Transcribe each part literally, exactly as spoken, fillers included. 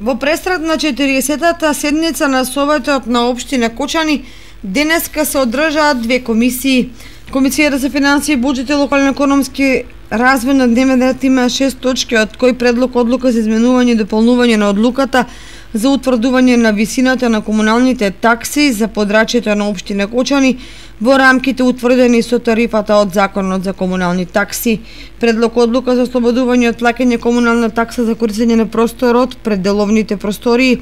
Во престрат на четириесеттата седница на Советот на општина Кочани денеска се одржаат две комисии. Комисијата за финансии, буџет и локален економски развој на дневен ред има шест точки, од кои предлог одлука за изменување и дополнување на одлуката за утврдување на висината на комуналните такси за подрачјето на општина Кочани во рамките утврдени со тарифата од Законот за комунални такси. Предлог одлука за ослободување од плаќање комунална такса за користење на просторот пред деловните простории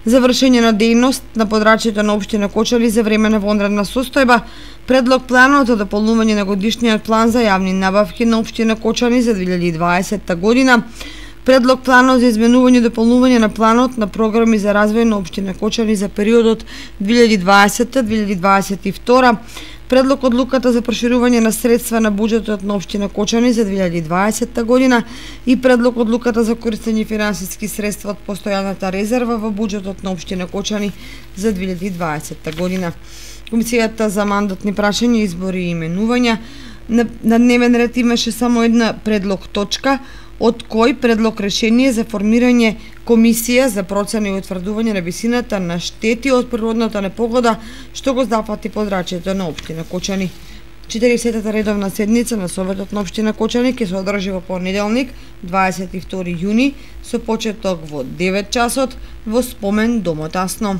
за вршење на дејност на подрачјето на општина Кочани за време на вонредна состојба. Предлог планот за дополнување на годишниот план за јавни набавки на општина Кочани за две илјади и дваесетта година. Предлог планот за изменување и дополнување на планот на програми за развој на општина Кочани за периодот две илјади и дваесетта до две илјади дваесет и втора. Предлог одлуката за проширување на средства на буџетот на општина Кочани за две илјади и дваесетта година и предлог одлуката за користење финансиски средства од постојаната резерва во буџетот на општина Кочани за две илјади и дваесетта година. Комисијата за мандатни прашања, избори и именувања на, на дневен ред имаше само една предлог точка, од кој предлог решение за формирање комисија за процена и утврдување на висината на штети од природната непогода што го зафати подрачјето на општина Кочани. четириесеттата редовна седница на Советот на општина Кочани ќе се одржи во понеделник, дваесет и втори јуни, со почеток во девет часот во спомен домот Асно.